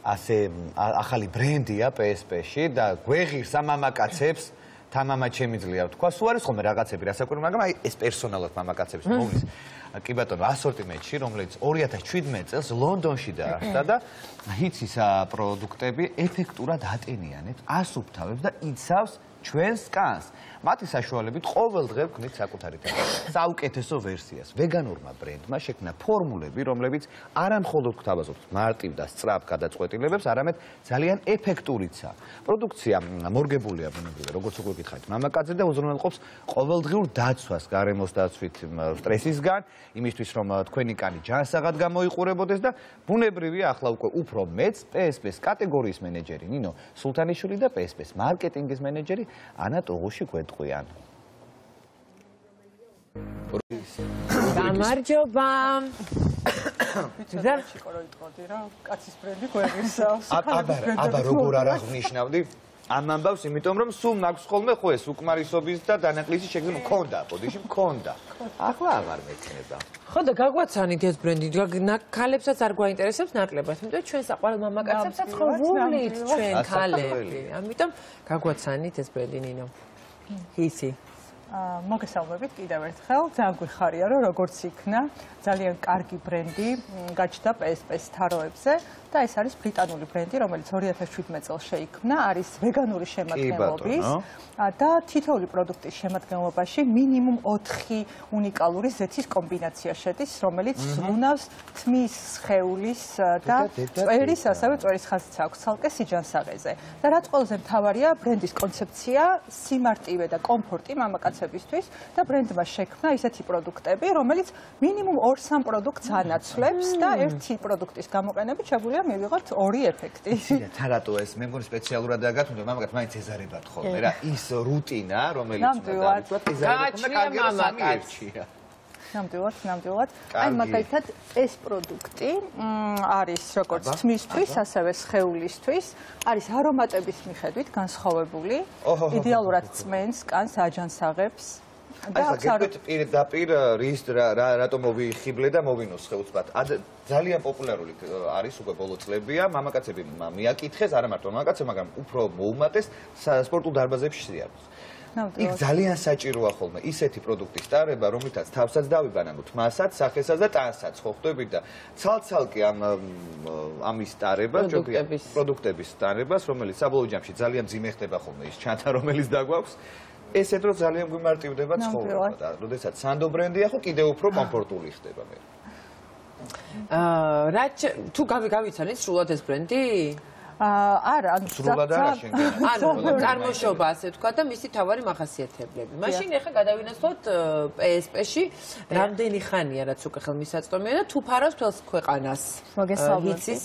ასე ახალი ბრენდია PSP-ში და გვეღირს ამ მამაკაცებს თამამად შემიძლია თქვა, სულ არის ხოლმე რაღაცები, რასაკვირველია, მაგრამ აი ეს პერსონალურად მამაკაცების მოვლის კი ბატონო ასორტიმენტში, რომელიც 2017 წელს ლონდონში დაარსდა და ჰიცის პროდუქტები ეფექტურად ატენიანებს, ასუფთავებს და იცავს ჩვენს კანს. მათი საშუალებით ყოველ დღე ვქნით საკუთარი საუკეთესო ვერსიას. ვეგანურმა ბრენდმა შექმნა ფორმულები, რომლებიც არა მხოლოდ გვთავაზობთ მარტივ და სწრაფ გადაწყვეტილებებს, არამედ ძალიან ეფექტურიცაა. პროდუქცია მორგებულია ბუნებრივად, როგორც უკვე გითხარით, მამაკაცზე და უზრუნველყოფს ყოველდღიურ დაცვას გარემოს დაცვით სტრესისგან, იმისთვის რომ თქვენი კანი ჯანსაღად გამოიყურებოდეს და ბუნებრივია ახლა უკვე უფრო მეც PSP-ს კატეგორიის მენეჯერი ნინო სულთანიშვილი და PSP-ს მარკეტინგის მენეჯერი ანა ტოღუში-გვეტყვიან. გამარჯობა. აბა როგორ არ აღნიშნავდი ამ ამბავს, იმიტომ რომ სულ მაქვს ხოლმე ხო ეს უკმარისობის და დანაკლისის შექმნა მქონდა, ბოდიში მქონდა. ახლა აღარ მექნება. ხო და გაგვაცანით ეს ბრენდი, ქალებსაც არ გვაინტერესებს ნაკლებად, იმიტომ ჩვენ საყვარელ მამაკაცებსაც ხო ვულით ჩვენ ქალები. ამიტომ გაგვაცანით ეს ბრენდი ნინო. ისი. მოგესალმებით კიდევ ერთხელ, ძალიან გვიხარია რომ როგორც იქნა ძალიან კარგი ბრენდი გაჩნდა PSP-ს თაროებზე და ეს არის ბრიტანული ბრენდი, რომელიც 2017 წელს შეიქმნა, არის ვეგანური შემადგენლობის და თითოეული პროდუქტის შემადგენლობაში მინიმუმ 4 უნიკალური ზეთის კომბინაცია შედის, რომელიც ზრუნავს თმის, სხეულის და წვერის, ასევე წვერის ხაზიც აქვს ცალკე სიჯანსაღეზე. და რაც ყველაზე მთავარია, ბრენდის კონცეფცია, სიმარტივე და კომფორტი მამაკაცებისთვის და ბრენდმა შექმნა ისეთი პროდუქტები, რომელიც მინიმუმ 2-3 პროდუქტს ანაცვლებს და ერთი პროდუქტის გამოყენებით შეგვიძლია მივიღოთ 2 ეფექტი. თა რატო ეს მე მგონი სპეციალურად დაგათუნდა მამაკაც მაინც ეზარებათ ხოლმე რა ის რუტინა რომელიც ნამდვილად. აი მაგალითად ეს პროდუქტი არის როგორც თმისთვის, ასევე სხეულისთვის, არის არომატების მიხედვით განსხვავებული, იდეალურად წმენს, კანს აჯანსაღებს. პირდაპირ რის რატომ მოვიხიბლე და მოვინოს ხელსბათ. ძალიან პოპულარული არის უკვე ბოლო წლებია, მამაკაცები მიაკითხეს, არა მარტო მამაკაცები, მაგრამ უფრო მოუმატეს სპორტულ დარბაზებში სიარბოს. იქ ძალიან საჭიროა ხოლმე ისეთი პროდუქტის ტარება, რომლითაც თავსაც დავიბანანოთ, მასაც, სახესაც და ტანსაც ხო ხვდებით და ცალ-ცალკე ამის ტარება, პროდუქტების ტარებას, რომელიც საბოლოო ჯამში ძალიან მძიმე ხდება ხოლმე ის ჩანთა, რომელიც დაგვაქვს. ესეთ რო ძალიან გვიმარტივდება ცხოვრება და როდესაც სანდო ბრენდია ხო კიდევ უფრო კომფორტული ხდება მე. თუ გავიცანით სრულად ეს ბრენდი? არა, სრულად არა შენგენ. წარმოშობა ასე თქვა და მისი თავარი მახასიათებლები. მაშინ ახლა გადავინაცვლოთ PSP-ში რამდენი ხანია რაც უკვე ხელმისაწვდომია და თუ ფარავს თელს ქვეყანას. მოგესალმებით.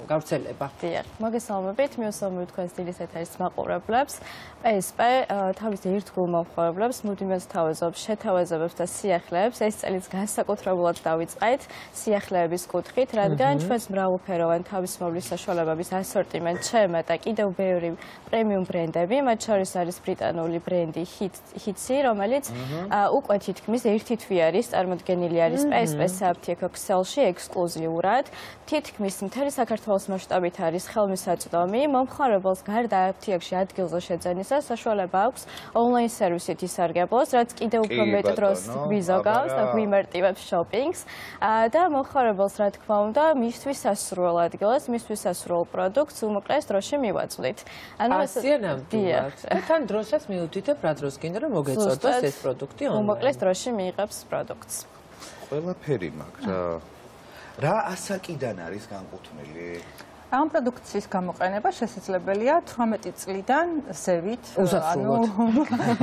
გავრცელება. დიახ, მოგესალმებით. მიუსალმებით თქვენს დილის ეთერის მაყურებლებს. PSP თავის ერთგულ მომხმარებლებს მუდმივად თავაზობს შეთავაზებებს და სიახლეებს. ეს წელიც განსაკუთრებულად დავიწყეთ სიახლეების კუთხით, რადგან ჩვენს მრავალფეროვანი თავისმოვლის საშუალებების ასორტიმენტ შემეტა კიდევ ბევრი პრემიუმ ბრენდები, მათ შორის არის ბრიტანული ბრენდი ჰიცი, რომელიც უკვე თითქმის ერთი თვე არის წარმოდგენილი არის PSP საფთიაქო ქსელში ექსკლუზიურად. თითქმის მთელი საქართველოს მასშტაბით არის ხელმისაწვდომი, მომხმარებელს გარდა აფთიაქში ადგილზე შეძენისა საშუალება აქვს ონლაინ სერვისით ისარგებლოს, რაც კიდევ უფრო მეტ დროს გვიზოგავს და გვიმარტივებს შოპინგს და მომხმარებელს რა თქმა უნდა მისთვის სასურველ ადგილას, მისთვის სასურველ პროდუქტს უმოკლეს დროში მივაწვდით. ასია ნამდვილად. და თან დროსაც მიუთითებ რა დროს გინდა რომ მოგეწოდოს ეს პროდუქტი ონლაინ. უმოკლეს დროში მიიღებს პროდუქტს. ყველაფერი მაგრამ რა ასაკიდან არის განკუთვნილი? ამ პროდუქციის გამოყენება შესაძლებელია 18 წლიდან ზევით,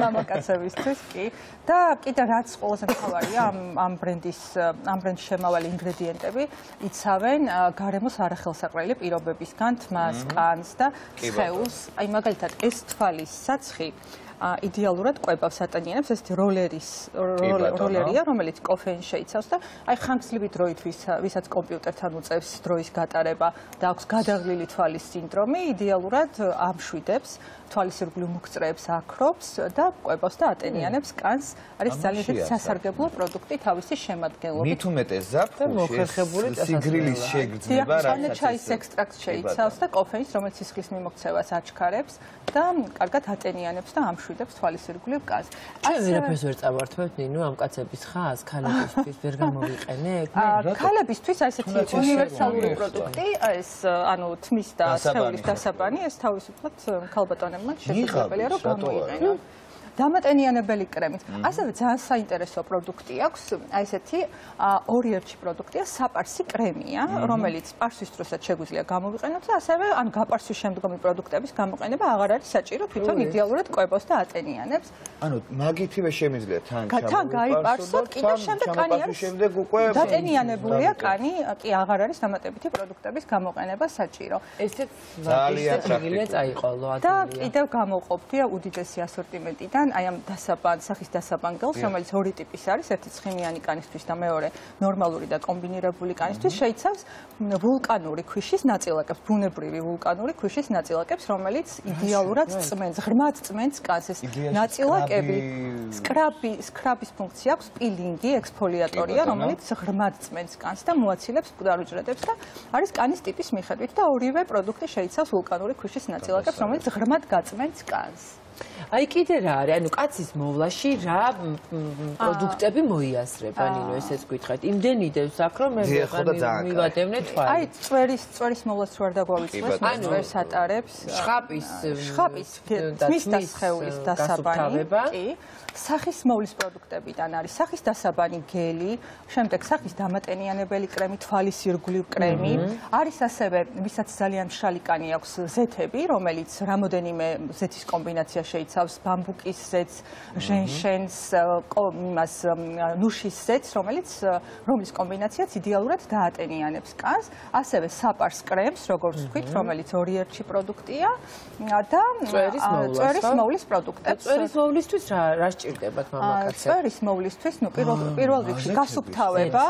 მამაკაცებისთვის კი. და კიდე რაც ყველაზე მთავარია ამ ბრენდის შემავალი ინგრედიენტები იცავენ გარემოს არახელსაყრელი პირობებისგან თმას, კანს და სხეულს. აი მაგალითად ეს თვალის საცხი იდეალურად კვებავს ატენიანებს, ესეთი როლერია, რომელიც კოფეინს შეიცავს და აი ხანგრძლივი დროით ვისაც კომპიუტერთან უწევს დროის გატარება და აქვს გადაღლილი თვალის სინდრომი, იდეალურად ამშვიდებს, თვალის ირგვლივ მუქწრეებს აქრობს და კვებავს და ატენიანებს კანს. არის ძალიან სასარგებლო პროდუქტი თავისი შემადგენლობით. მით უმეტეს ზაფხულში სიგრილის შეგრძნება რაღაცა ჩაის ექსტრაქტს შეიცავს და კოფეინს, რომელიც სისხლის მიმოქცევას აჩქარებს და კარგად ატენიანებს და ამშვიდებს თვალის ირგვლივ კანს. ჩვენ ვერაფერს ვერ წავართმევთ ნინო ამ კაცების ხას, ქალებისთვის ვერ გამოვიყენებ? ქალებისთვის აი ესეთი უნივერსალური პროდუქტი, ეს ანუ თმის და სხეულის დასაბანი, ეს თავისუფლად ქალბატონებმა შესაძლებელია რომ გამოიყენონ. დამატენიანებელი კრემით. ასევე ძალიან საინტერესო პროდუქტი აქვს, აი ესეთი ორი ერთში პროდუქტია, საპარსი კრემია, რომელიც პარსვის დროსაც შეგვიძლია გამოვიყენოთ და ასევე ან გაპარსვის შემდგომი პროდუქტების გამოყენება აღარ არის საჭირო, თვითონ იდეალურად კვებავს და ატენიანებს. ანუ მაგითივე შემიძლია თან გაიპარსოთ, კიდევ შემდეგ კანი არის დატენიანებულია კანი, კი აღარ არის დამატებითი პროდუქტების გამოყენება საჭირო. ესეც ძალიან შეგიძლია წაიყოლო და ადვილია. კიდევ გამოყოფდია უდიდესი ასორტიმენტიდან აი ამ სახის დასაბანგელს, რომელიც ორი ტიპის არის, ერთი ცხიმიანი კანისთვის და მეორე ნორმალური და კომბინირებული კანისთვის, შეიცავს ვულკანური ქვიშის ნაწილაკებს, ბუნებრივი ვულკანური ქვიშის ნაწილაკებს, რომელიც იდეალურად წმენს, ღრმად წმენს კანს. ეს ნაწილაკები სკრაბის ფუნქცია აქვს, პილინგი, ექსფოლიატორია, რომელიც ღრმად წმენს კანს და მოაცილებს მკვდარ უჯრედებს და არის კანის ტიპის მიხედვით და ორივე პროდუქტი შეიცავს ვულკანური ქვიშის ნაწილაკებს, რომელიც ღრმად გაწმენს კანს. აი კიდე რა არის, ანუ კაცის მოვლაში რა პროდუქტები მოიაზრება, ნინო, ესეც გითხარით. იმდენი დევს აქ რომ მე მივადევნე თვალი. აი წვერის მოვლას რო არ დაგვავიწყდეს, წვერს ატარებს. შხაპის თმის და სხეულის დასაბანი, კი. სახის მოვლის პროდუქტებიდან არის სახის დასაბანი გელი, შემდეგ სახის დამატენიანებელი კრემი, თვალის ირგვლივ კრემი, არის ასევე, ვისაც ძალიან მშრალი კანი აქვს, ზეთები, რომელიც რამოდენიმე ზეთის კომბინაცია შეიცავს, ბამბუკის ზეთს, ჟენშენს, ნუშის ზეთს, რომლის კომბინაციაც იდეალურად დაატენიანებს კანს, ასევე საპარს კრემს, როგორც ვთქვით, რომელიც ორი ერთში პროდუქტია და წვერის მოვლის პროდუქტებს. წვერის მოვლისთვის რა ჭირდებათ მამაკაცებს? წვერის მოვლისთვის, ნუ პირველ რიგში გასუფთავება,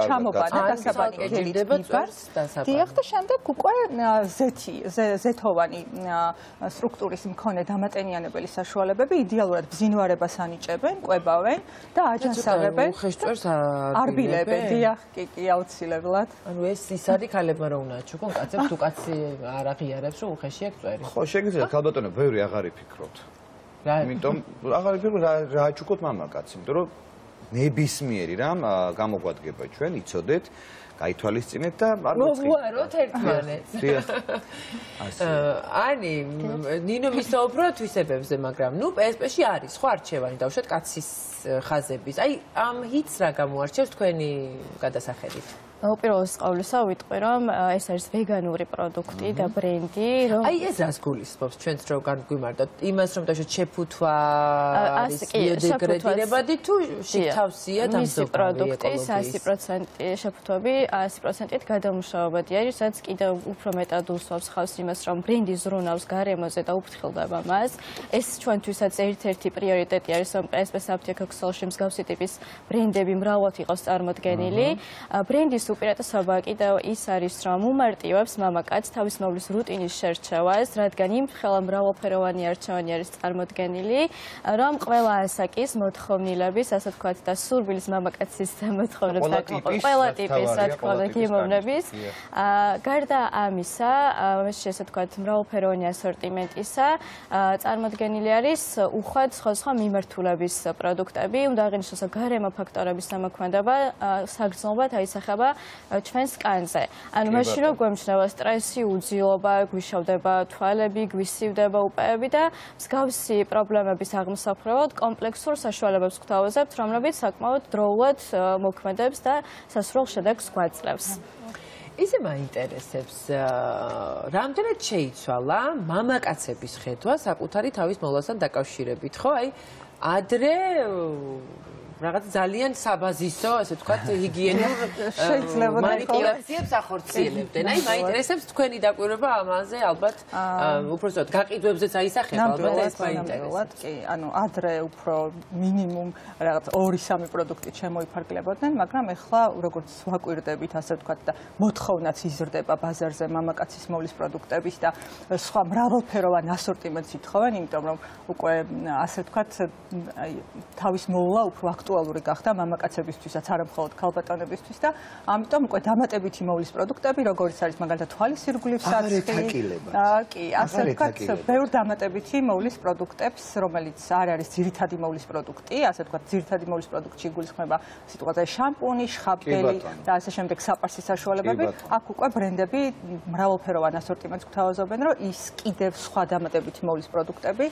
ჩამობანა, დასაბანი გელით ბიბარს, დიახ და შემდეგ უკვე ზეთოვანი სტრუქტურის მქონე დამატენიანებელი საშუალებები იდეალურად ბზინვარებას ანიჭებენ, კვებავენ და აჯანსაღებენ. უხეშწვერს არბილებენ, დიახ, კი, აუცილებლად. ანუ ეს ის არის ქალებმა რომ უნდა ჩუქონ კაცებს, თუ კაცი არ აღიარებს რომ უხეში აქვს წვერი. ხო, შეგიძლიათ ქალბატონო, ბევრი აღარ იფიქროთ. იმიტომ აღარ იფიქროთ რა აჩუქოთ მამაკაცი, იმიტომ რომ ნებისმიერი რამ გამოგვადგება ჩვენ, იცოდეთ, გაითვალისწინეთ და არ მოწყით. მოვუაროთ ერთმანეთს. ანი, ნინო მისაუბროთ თვისებებზე, მაგრამ ნუ PSP-ში არის ხო არჩევანი დავუშვათ კაცის ხაზების. აი ამ ჰიტს რა გამოარჩევს თქვენი გადასახედით? უპირველეს ყოვლისა ვიტყვი რომ ეს არის ვეგანური პროდუქტი და ბრენდი რომ აი ეს რას გულისხმობს ჩვენც რო განგვიმარტოთ იმას რომ დაჟე შეფუთვა არის ბიოდეგრედირებადი თუ შეთავსია მისი პროდუქტი 100% შეფუთვები 100%-ით გადამუშავებადი არის სადაც კიდევ უფრო მეტად უსვამს ხავს იმას რომ ბრენდი ზრუნავს გარემოზე და უფრთხილდება მას ეს ჩვენთვისაც ერთ-ერთი პრიორიტეტი არის რომ PSP საფთიაქო ქსელში მსგავსი ტიპის ბრენდები მრავლად იყოს წარმოდგენილი ბრენდის უპირატესობა კიდევ ის არის რომ უმარტივებს მამაკაცს თავის მოვლის რუტინის შერჩევას, რადგან იმ ხელა მრავალფეროვანი არჩევანი არის წარმოდგენილი, რომ ყველა ასაკის მოთხოვნილების, ასე ვთქვათ, და სურვილის მამაკაცის მოთხოვნებს აკმაყოფილებს, ყველა ტიპის, რა თქმა უნდა, გემოვნების. გარდა ამისა, ესე ვთქვათ, მრავალფეროვანი ასორტიმენტისა, წარმოდგენილი არის უხვად სხვადასხვა მიმართულების პროდუქტები, უნდა აღინიშნოს გარემო ფაქტორების გამოქმედება, საგრძნობლად აისახება ჩვენს კანზე. ანუ მაშინ რომ გვემჩნევა სტრესი, უძილობა, გვიშავდება თვალები, გვისივდება უპეები და მსგავსი პრობლემების აღმოსახრებად კომპლექსურ საშუალებებს გვთავაზებთ, რომლებიც საკმაოდ დროულად მოქმედებს და სასურველ შედეგს გვაძლევს. ისე მაინტერესებს, რამდენად შეიცვალა მამაკაცების ხედვა საკუთარი თავის მოვლასთან დაკავშირებით, ხო? აი, ადრე რაღაც ძალიან საბაზისო, ასე ვთქვათ, ჰიგიენურ მანიპულაციებს ახორციელებდნენ. აი, მაინტერესებს თქვენი დაკვირვება ამაზე, ალბათ, უпростоოდ გაყიდვებზეც აისახება, ალბათ ეს მაინტერესებს. კი, ანუ ადრე უფრო მინიმუმ რაღაც 2-3 პროდუქტი შემოიფარგლებოდნენ, მაგრამ ეხლა როგორც ვაკვირდებით, ასე ვთქვათ და მოთხოვნაც იზრდება ბაზარზე მამაკაცის მოვლის პროდუქტების და სხვა მრავალფეროვან ასორტიმენტს ითხოვენ, იმიტომ რომ უკვე ასე ვთქვათ, აი თავის მოვლა უფრო აქტუალური გახდა მამაკაცებისთვისაც, არა მხოლოდ ქალბატონებისთვის და ამიტომ უკვე დამატებითი მოვლის პროდუქტები, როგორც არის მაგალითად თვალის ირგვლივ საცხი, კი, ასე ვთქვათ, ბევრ დამატებითი მოვლის პროდუქტებს, რომელიც არ არის ძირითადი მოვლის პროდუქტი, ასე ვთქვათ, ძირითადი მოვლის პროდუქტში იგულისხმება სიტყვაზე შამპუნი, შხაპგელი და ასე შემდეგ საპარსის საშუალებები, აქ უკვე ბრენდები მრავალფეროვან ასორტიმენტს გვთავაზობენ, რომ ის კიდევ სხვა დამატებითი მოვლის პროდუქტები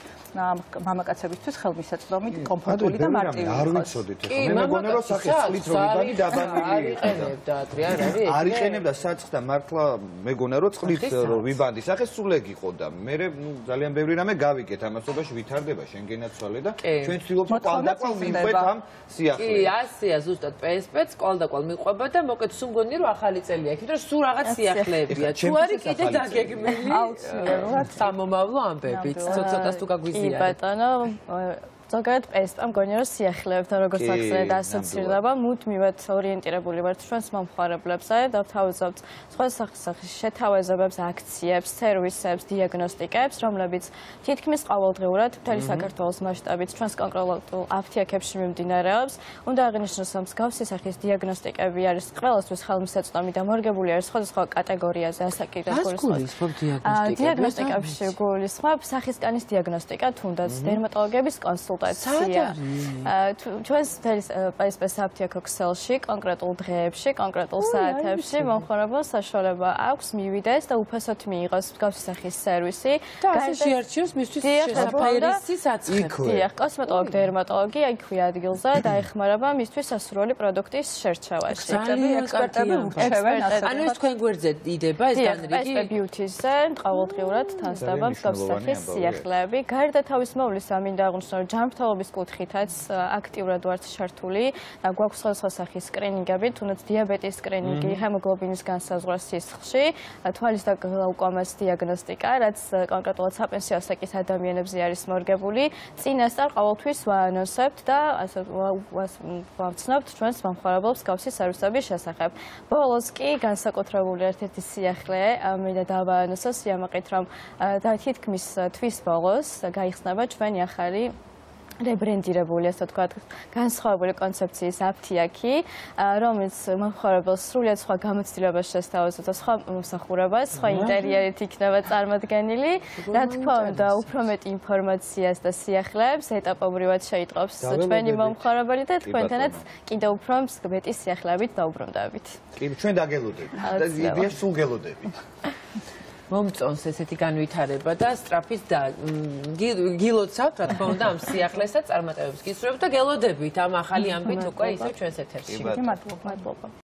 მამაკაცებისთვის ხელმისაწვდომი, კომფორტული და მარტივი არ ვიცოდით, მე მეგონა რომ სახის წყლით რომ იბანი დაბანილი იყენებდა ადრე, არ არის? არ იყენებდა საცხს და მართლა მეგონა რომ წყლით რომ ვიბანდი სახეს სულ ეგ იყო და მე ძალიან ბევრი რამე გავიგეთ ამასობაში ვითარდება შენგენაცვალე და ჩვენ ვცდილობთ კვალდაკვალ მივყვეთ ამ სიახლეს. კი, ასეა ზუსტად PSP-ს კვალდაკვალ მიყვება და მოკეთ სულ მგონი რომ ახალი წელი აქვს, რომ სულ რაღაც სიახლებია. თუ არის კიდე დაგეგმილი აუცილებლად სამომავლო ამბებით, ცოტას თუ გაგვიზიარეთ. კი ბატონო, ზოგადად PSP-მა მგონი რომ სიახლებთან როგორც ახსენეთ ასოცირდება, მუდმივად ორიენტირებული ვართ ჩვენს მომხმარებლებზე და ვთავაზობთ სხვა სახის შეთავაზებებს, აქციებს, სერვისებს, დიაგნოსტიკებს, რომლებიც თითქმის ყოველდღიურად მთელი საქართველოს მასშტაბით ჩვენს კონკრეტულ აფთიაქებში მიმდინარეობს. უნდა აღინიშნოს, რომ მსგავსი სახის დიაგნოსტიკები არის ყველასთვის ხელმისაწვდომი და მორგებული არის სხვადასხვა კატეგორიაზე ასაკიდან გულისხმობ დიაგნოსტიკებში გულისხმობ სახის კანის დიაგნოსტიკა, თუნდაც დერმატოლოგების კონსულტაცია. ჩვენს PSP საფთიაქო ქსელში, კონკრეტულ დღეებში, კონკრეტულ საათებში მომხმარებელს საშუალება აქვს მივიდეს და უფასოდ მიიღოს მსგავსი სახის სერვისი. და ასე შეარჩიოს მისთვის შესაფერისი საცხები. დიახ, კოსმეტოლოგი, დერმატოლოგი იქვე ადგილზე დაეხმარება მისთვის სასურველი პროდუქტის შერჩევაში. ექსპერტები ურჩევენ ასე. ანუ ეს თქვენ გვერდზე იდება ეს განრიგი? PSP Beauty-ზე ყოველდღიურად თანსდება მსგავსი სახის სიახლეები. გარდა თავის მოვლისა მინდა აღვნიშნო, რომ ჯანმრთელობის კუთხითაც აქტიურად ვართ ჩართული და გვაქვს სხვადასხვა სახის სკრინინგები, თუნდაც დიაბეტის სკრინინგი, ჰემოგლობინის განსაზღვრა სისხლში, თვალის და გლაუკომას დიაგნოსტიკა, რაც კონკრეტულად საპენსიო ასაკის ადამიანებზე არის მორგებული. წინასწარ ყოველთვის ვაანონსებთ და ასე ვაცნობთ ჩვენს მომხმარებელს მსგავსი სერვისების შესახებ. ბოლოს კი განსაკუთრებული ერთ-ერთი სიახლე მინდა დავაანონსო სიამაყით, რომ თითქმის თვის ბოლოს გაიხსნება ჩვენი ახალი რებრენდირებული, ასე ვთქვათ, განსხვავებული კონცეფციის აფთიაქი, რომელიც მომხმარებელს სრულიად სხვა გამოცდილებას შესთავაზებს და სხვა მომსახურებას, სხვა ინტერიერით იქნება წარმოდგენილი. რა თქმა უნდა, უფრო მეტ ინფორმაციას და სიახლეებს ეტაპობრივად შეიტყობს ჩვენი მომხმარებელი და თქვენთანაც კიდევ უფრო მეტი სიახლეებით დაუბრუნდებით. კი, ჩვენ დაგელოდებით და იდეა სულ გელოდებით. მომწონს ესეთი განვითარება და სწრაფით და გილოცავთ, რა თქმა უნდა, ამ სიახლესა წარმატებებს გისურვებთ და გელოდებით ამ ახალი ამბით უკვე ისევ ჩვენს ეთერში. მადლობა.